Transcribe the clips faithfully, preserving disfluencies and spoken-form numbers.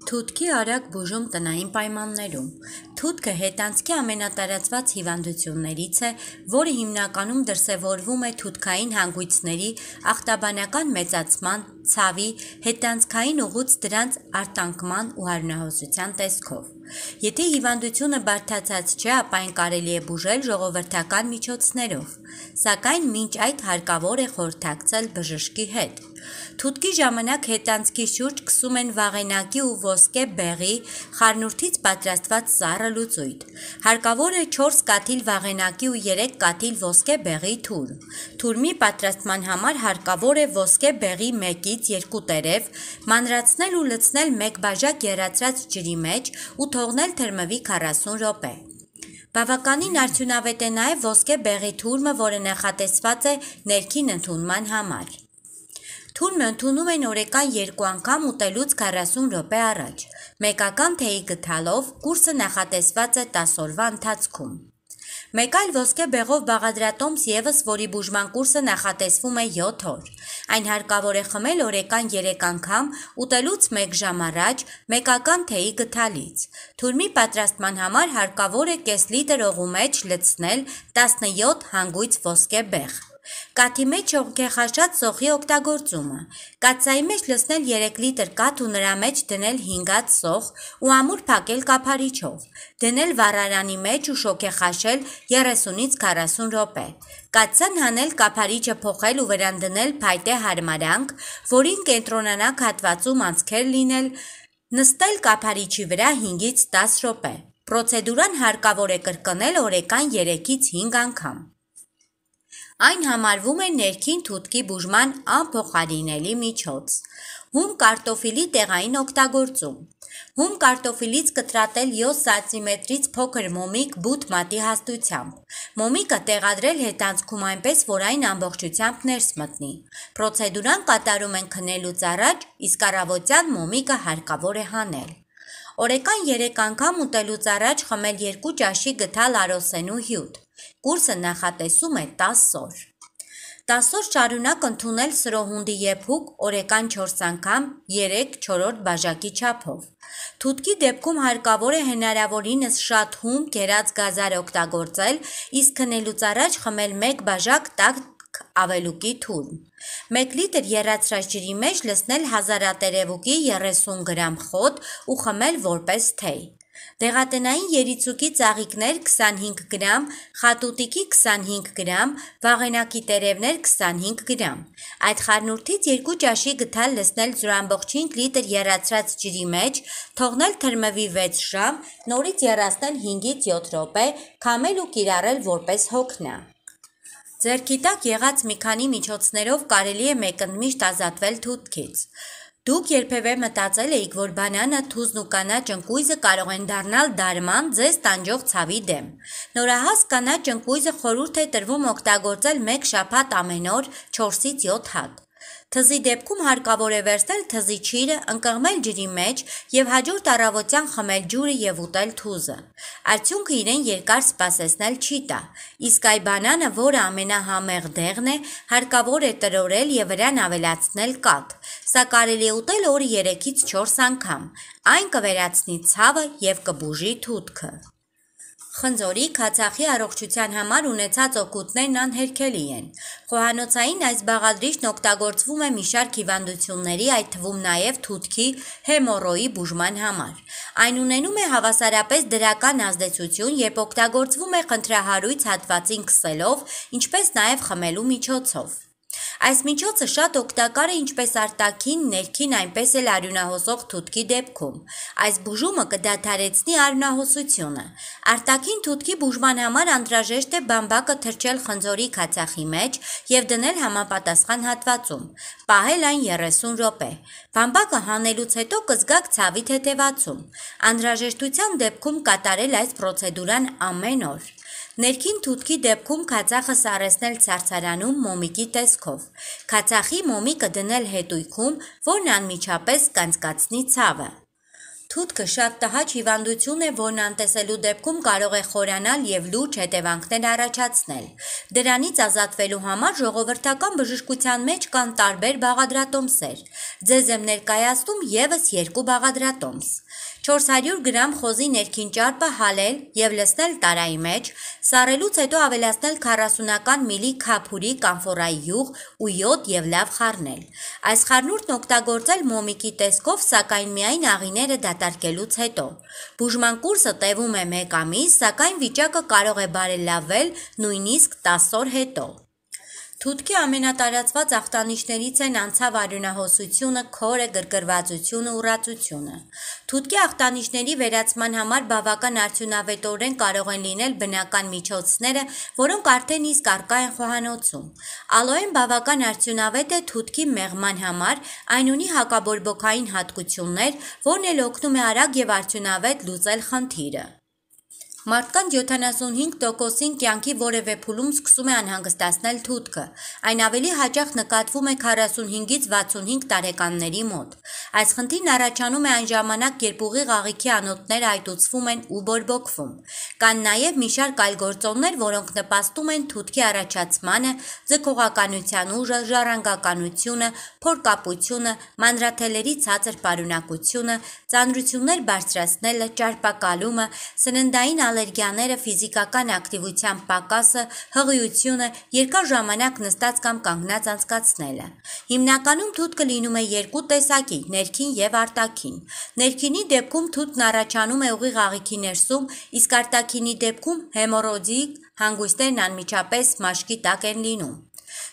Թութքի արագ բուժում տնային պայմաններում։ Թութքը հետանցքի ամենատարածված հիվանդություններից է, որը հիմնականում դրսևորվում է թութքային հանգույցների ախտաբանական մեծացման, ցավի, հետանցքային ուղուց դրանց արտանկման ու հարյունահոսության տեսքով։ Եթե հիվանդությունը բարդացած չէ, ապա այն կարելի է բուժել ժողովրդական միջոցներով, սակայն մինչ այդ հարկավոր է խորհրդակցել բժշկի հետ։ Թութքի ժամանակ հետանցքի շուրջ քսում են վաղենակի ու ոսկե բեղի խառնուրդից պատրաստված սառը լուծույթ։ Հարկավոր է չորս կաթիլ վաղենակի ու երեք կաթիլ ոսկե բեղի թուրմ։ Թուրմի պատրաստման համար հարկավոր է ոսկե բեղի մեկից երկու տերև մանրացնել ու լցնել մեկ բաժակ եռացրած ջրի մեջ ու թողնել թրմվի քառասուն րոպե։ Բավականին արդյունավետ է նաև ոսկե բեղի թուրմը, որը նախատեսված է ներքին ընդունման համար։ Թուրմը ընդունում են օրական երկու անգամ ուտելուց քառասուն րոպե առաջ։ Մեկական թեյի գթալով կուրսը նախատեսված է տասը օրվա ընթացքում։ Մեկ այլ ոսկե բեղով բաղադրատոմս ևս, որի բուժման կուրսը նախատեսվում է յոթ օր։ Այն հարկավոր է խմել օրական երեք անգամ ուտելուց մեկ ժամ առաջ մեկական թեյի գթալից։ Թուրմի պատրաստման համար հարկավոր է կես լիտր օղու մեջ լցնել տասնյոթ հանգույց ոսկե բեղ։ Կաթի մեջ հողքեխաշած սոխի օգտագործումը։ Կաթսայի մեջ լցնել երեք լիտր կաթ ու նրա մեջ դնել հինգած սոխ ու ամուր փակել կափարիչով։ Դնել վառարանի մեջ ու շոգեխաշել երեսունից քառասուն րոպե։ Կաթսան հանել, կափարիչը փոխել ու վրան դնել փայտե հարմարանք, որին կենտրոնանակ հատվածում անցքեր լինել, նստել կափարիչի վրա հինգից տասը րոպե։ Պրոցեդուրան հարկավոր է կրկնել օրական երեքից հինգ անգամ։ Այն համարվում է ներքին թութքի բուժման անփոխարինելի միջոց։ Հում կարտոֆիլի տեղային օգտագործում։ Հում կարտոֆիլից կտրատել յոթ սանտիմետրից փոքր մոմիկ բութ մատի հաստությամբ։ Մոմիկը տեղադրել հետանցքում այնպես, որ այն ամբողջությամբ ներս մտնի։ Պրոցեդուրան կատարում են քնելուց առաջ, իսկ առավոտյան մոմիկը հարկավոր է հանել։ Օրական երեք անգամ ուտելուց առաջ խմել երկու ճաշի գթալ արոսենու հյութ։ Կուրսը նախատեսում է տասը օր։ տասը օր շարունակ ընդունել սրոհունդի եփուկ օրական չորս անգամ երեք-չորրորդ բաժակի չափով։ Թութքի դեպքում հարկավոր է հնարավորինս շատ հում կերած գազար օգտագործել, իսկ քնելուց առաջ խմել մեկ բաժակ տաք ավելուկի թուրմ։ մեկ լիտր եռացրած ջրի մեջ լցնել հազարատերևուկի երեսուն գրամ խոտ ու խմել որպես թեյ։ Դեղատնային երիցուկի ծաղիկներ քսանհինգ գրամ, խատուտիկի քսանհինգ գրամ, վաղենակի տերևներ քսանհինգ գրամ։ Այդ խառնուրդից երկու ճաշի գթալ լցնել ջրամբողջ հինգ լիտր եռացրած ջրի մեջ, թողնել թրմվի վեց ժամ, նորից եռացնել հինգից յոթ րոպե, քամել ու կիրառել որպես հոգնա։ Ձեռքի տակ եղած մի քանի միջոցներով կարելի է մեկընդմիշտ ազատվել թութքից։ Դուք երբևէ մտածել եք, որ բանանը, թուզն ու կանաչ ընկույզը կարող են դառնալ դարման ձեզ տանջող ցավի դեմ։ Նորահաս կանաչ ընկույզը խորհուրդ է տրվում օգտագործել մեկ շաբաթ ամեն օր չորսից յոթ հատ։ Թզի դեպքում հարկավոր է վերցնել թզի չիրը, ընկղմել ջրի մեջ և հաջորդ առավոտյան խմել ջուրը և ուտել թուզը։ Արդյունքը իրեն երկար սպասեցնել չի տա, իսկ այ բանանը, որը ամենահամեղ դեղն է, հարկավոր է տրորել և վրան ավելացնել կաթ։ Սա կարելի է ուտել օրը երեքից չորս անգամ։ Այն կվերացնի ցավը և կբուժի թութքը։ Խնձորի, քացախի առողջության համար ունեցած օգուտներն անհերքելի են։ Խոհանոցային այս բաղադրիչն օգտագործվում է մի շարք հիվանդությունների, այդ թվում նաև թութքի, հեմոռոյի բուժման համար։ Այն ունենում է հավասարապես դրական ազդեցություն, երբ օգտագործվում է խնդրահարույց հատվածին քսելով, ինչպես նաև խմելու միջոցով։ Այս միջոցը շատ օգտակար է ինչպես արտաքին, ներքին, այնպես էլ արյունահոսող թութքի դեպքում։ Այս բուժումը կդադարեցնի արյունահոսությունը։ Արտաքին թութքի բուժման համար անհրաժեշտ է բամբակը թրջել խնձորի քացախի մեջ և դնել համապատասխան հատվածում, պահել այն երեսուն րոպե։ Բամբակը հանելուց հետո կզգաք ցավի թեթևացում։ Անհրաժեշտության դեպքում կատարել այս պրոցեդուրան ամեն օր։ Ներքին թութքի դեպքում քացախը սառեցնել ցարցարանում մոմիկի տեսքով։ Քացախի մոմիկը դնել հետույքում, որն անմիջապես կանցկացնի ցավը։ Թութքը շատ տհաճ հիվանդություն է, որն անտեսելու դեպքում կարող է խորանալ և լուրջ հետևանքներ առաջացնել։ Դրանից ազատվելու համար ժողովրդական բժշկության մեջ կան տարբեր բաղադրատոմսեր։ Ձեզ եմ ներկայացնում ևս երկու բաղադրատոմս։ չորս հարյուր գրամ խոզի ներքին ճարպը հալել և լցնել տարայի մեջ, սառելուց հետո ավելացնել քառասունական միլի քափուրի կամֆորայի յուղ ու յոդ և լավ խառնել։ Այս խառնուրդն օգտագործել մոմիկի տեսքով, սակայն միայն աղիները դատարկելուց հետո։ Բուժման կուրսը տևում է մեկ ամիս, սակայն վիճակը կարող է բարելավել նույնիսկ տասը օր հետո։ Թութքի ամենատարածված ախտանիշներից են անցավ արյունահոսությունը, քորը, գրգռվածությունը, ուռածությունը։ Թութքի ախտանիշների վերացման համար բավական արդյունավետորեն կարող են լինել բնական միջոցները, որոնք արդեն իսկ առկա են խոհանոցում։ Ալոեն բավական արդյունավետ է թութքի մեղման համար, այն ունի հակաբորբոքային հատկություններ, որն էլ օգնում է արագ և արդյունավետ լուծել խնդիրը։ Մարդկանց յոթանասունհինգ տոկոսին կյանքի որևէ փուլում սկսում է անհանգստացնել թութքը։ Այն ավելի հաճախ նկատվում է քառասունհինգից վաթսունհինգ տարեկանների մոտ։ Այս խնդիրն առաջանում է այն ժամանակ, երբ ուղիղ աղիքի անոթները այտուցվում են ու բորբոքվում։ Կան նաև մի շարք այլ գործոններ, որոնք նպաստում են թութքի առաջացմանը, ձգողականության ուժը, ժառանգականությունը, փորկապությունը, մանրաթելերի ցածր պարունակությունը, ծանրություններ բարձրացնելը, ճարպակալումը, սննդային ալերգիաները, ֆիզիկական ակտիվության պակասը, հղիությունը, երկար ժամանակ նստած կամ կանգնած անցկացնելը։ Հիմնականում թութքը լինում է երկու տեսակի՝ ներքին և արտաքին։ Ներքինի դեպքում թութն առաջանում է ուղիղ աղիքի ներսում, իսկ արտաքինի դեպքում հեմոռոիդիկ հանգույցներն անմիջապես մաշկի տակ են լինում։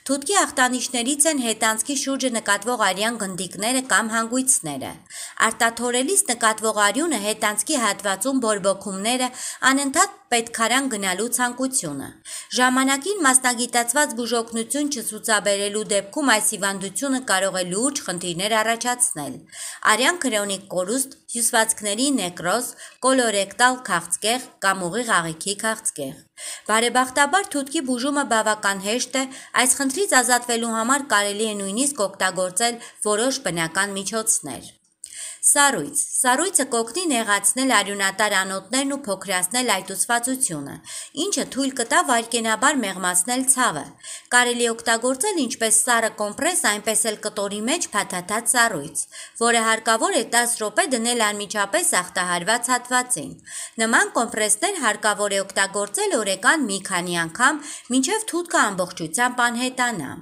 Թութքի ախտանիշներից են հետանցքի շուրջը նկատվող արյան գնդիկները կամ հանգույցները։ Արտաթորելիս նկատվող արյունը, հետանցքի հատվածում բորբոքումները, անընդհատ պետքարան գնալու ցանկությունը։ Ժամանակին մասնագիտացված բուժօգնություն չցուցաբերելու դեպքում այս հիվանդությունը կարող է լուրջ խնդիրներ առաջացնել։ Արյան քրոնիկ կորուստ, հյուսվածքների նեկրոզ, կոլորեկտալ քաղցկեղ կամ ուղիղ աղիքի քաղցկեղ։ Բարեբախտաբար թութքի բուժումը բավական հեշտ է, այս խնդրից ազատվելու համար կարելի է նույնիսկ օգտագործել որոշ բնական միջոցներ։ Սառույց։ Սառույցը կօգնի նեղացնել արյունատար անոթներն ու փոքրացնել այտուցվածությունը, ինչը թույլ կտա վայրկենաբար մեղմացնել ցավը։ Կարելի է օգտագործել ինչպես սառը կոմպրես, այնպես էլ կտորի մեջ փաթաթած սառույց, որը հարկավոր է տասը րոպե դնել անմիջապես ախտահարված հատվածին։ Նման կոմպրեսներ հարկավոր է օգտագործել օրեկան մի քանի անգամ, մինչև թութքը ամբողջությամբ անհետանա։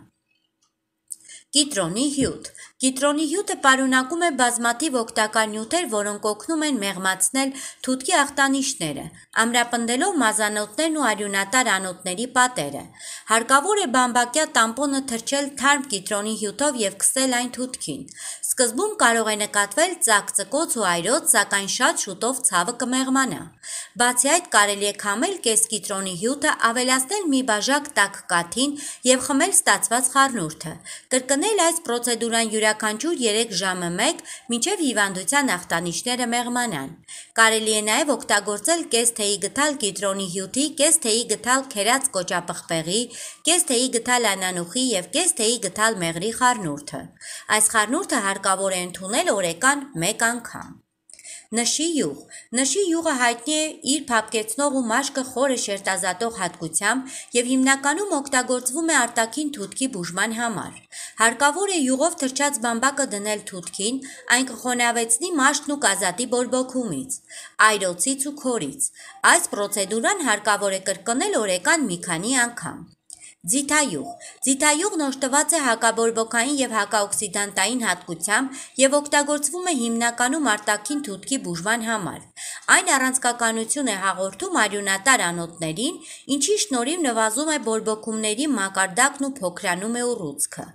Կիտրոնի հյութ։ Կիտրոնի հյութը պարունակում է բազմաթիվ օգտակար նյութեր, որոնք օգնում են մեղմացնել թութքի ախտանիշները, ամրապնդելով մազանոթներն ու արյունատար անոթների պատերը։ Հարկավոր է բամբակյա տամպոնը թրջել թարմ կիտրոնի հյութով և քսել այն թութքին։ Սկզբում կարող է նկատվել ծակծկոց ու այրոց, սակայն շատ շուտով ցավը կմեղմանա։ Բացի այդ, կարելի է քամել կես կիտրոնի հյութը, ավելացնել մի բաժակ տաք կաթին և խմել ստացված խառնուրդը։ Կրկնել այս պրոցեդուրան յուրաքանչյուր երեք ժամը մեկ, մինչև հիվանդության ախտանիշները մեղմանան։ Կարելի է նաև օգտագործել կես թեյի գդալ կիտրոնի հյութի, կես թեյի գդալ քերած կոճապղպեղի, կես թեյի գդալ անանուխի և կես թեյի գդալ մեղրի խառնուրդը։ Այս խառնուրդը հարկավոր է ընդունել օրեկան մեկ անգամ։ Նշի յուղ։ Նշի յուղը հայտնի է իր փափկեցնող ու մաշկը խորը շերտազատող հատկությամբ և հիմնականում օգտագործվում է արտաքին թութքի բուժման համար։ Հարկավոր է յուղով թրջած բամբակը դնել թութքին, այն կխոնավեցնի մաշկն ու կազատի բորբոքումից, այրոցից ու քորից։ Այս պրոցեդուրան հարկավոր է կրկնել օրեկան մի քանի անգամ։ Ձիթայուղ։ Ձիթայուղն օժտված է հակաբորբոքային և հակաօքսիդանտային հատկությամբ և օգտագործվում է հիմնականում արտաքին թութքի բուժման համար։ Այն առանցքականություն է հաղորդում արյունատար անոթներին, ինչի շնորհիվ նվազում է բորբոքումների մակարդակն ու փոքրանում է ուռուցքը։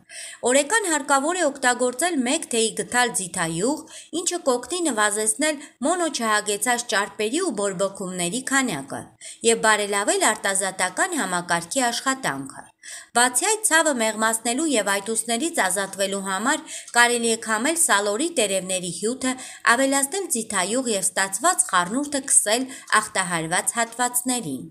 Օրեկան հարկավոր է օգտագործել մեկ թեյի գդալ ձիթայուղ, ինչը կօգնի նվազեցնել մոնոչհագեցած ճարպերի ու բորբոքումների քանակը և բարելավել արտազատական համակարգի աշխատանքը։ Բացի այդ, ցավը մեղմացնելու և այտուցներից ազատվելու համար կարելի է քամել սալորի տերևների հյութը, ավելացնել ձիթայուղ և ստացված խառնուրդը քսել ախտահարված հատվածներին։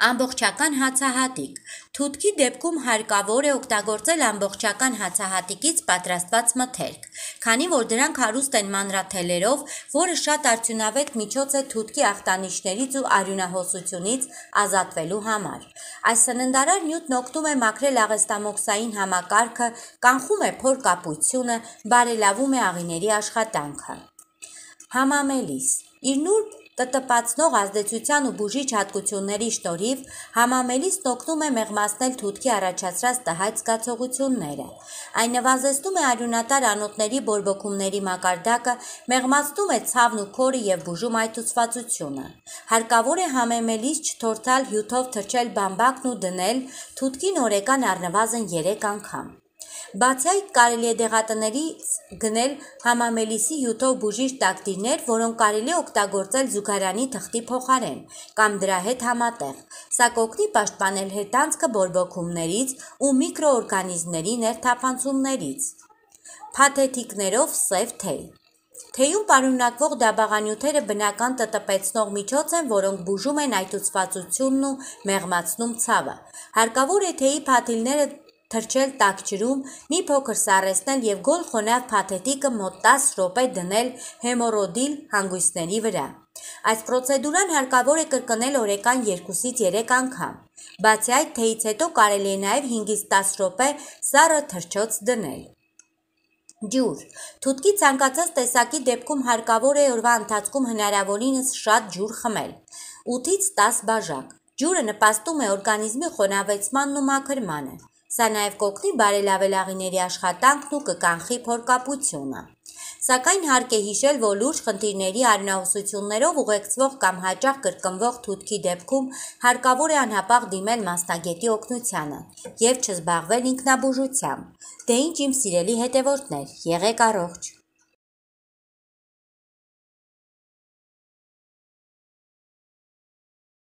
Ամբողջական հացահատիկ։ Թութքի դեպքում հարկավոր է օգտագործել ամբողջական հացահատիկից պատրաստված մթերք, քանի որ դրանք հարուստ են մանրաթելերով, որը շատ արդյունավետ միջոց է թութքի ախտանիշներից ու արյունահոսությունից ազատվելու համար։ Այս սննդարար նյութն օգնում է մաքրել աղեստամոքսային համակարգը, կանխում է փորկապությունը, բարելավում է աղիների աշխատանքը։ Համամելիս։ Իր նուրբ տտպացնող ազդեցության ու բուժիչ հատկությունների շնորհիվ համամելիսն օգնում է մեղմացնել թութքի առաջացրած տհաճ զգացողությունները։ Այն նվազեցնում է արյունատար անոթների բորբոքումների մակարդակը, մեղմացնում է ցավն ու քորը և բուժում այտուցվածությունը։ Հարկավոր է համեմելիս չթորթալ հյութով թրջել բամբակն ու դնել թութքին օրական առնվազն երեք անգամ։ Բացի այդ, կարելի է դեղատներից գնել համամելիսի հյութով բուժիչ տակտիրներ, որոնք կարելի է օգտագործել զուգարանի թղթի փոխարեն կամ դրա հետ համատեղ։ Սա կօգնի պաշտպանել հետանցքը բորբոքումներից ու միկրոօրգանիզմների ներթափանցումներից։ Փաթեթիկներով սև թեյ։ Թեյում պարունակվող դաբաղանյութերը բնական տտպեցնող միջոց են, որոնք բուժում են այտուցվածությունն ու մեղմացնում ցավը։ Հարկավոր է թեյի փաթիլները թրջել տաք ջրում, մի փոքր սառեցնել և գոլ խոնավ փաթեթիկը մոտ տասը րոպե դնել հեմորոդիլ հանգույցների վրա։ Այս պրոցեդուրան հարկավոր է կրկնել օրական երկուսից երեք անգամ։ Բացի այդ, թեյից հետո կարելի է նաև հինգից տասը րոպե սառը թռչոց դնել։ Ջուր։ Թութքի ցանկացած տեսակի դեպքում հարկավոր է օրվա ընթացքում հնարավորինս շատ ջուր խմել՝ ութից տասը բաժակ։ Ջուրը նպաստում է օրգանիզմի խոնավեցմանն ու մաքրմանը։ Սա նաև կօգնի բարելավել աղիների աշխատանքն ու կկանխի փորկապությունը։ Սակայն հարկ է հիշել, որ լուրջ խնդիրների արյունահոսություններով ուղեկցվող կամ հաճախ կրկնվող թութքի դեպքում հարկավոր է անհապաղ դիմել մասնագետի օգնությանը և չզբաղվել ինքնաբուժությամբ։ Դե ինչ իմ սիրելի հետևորդներ, եղեք առողջ։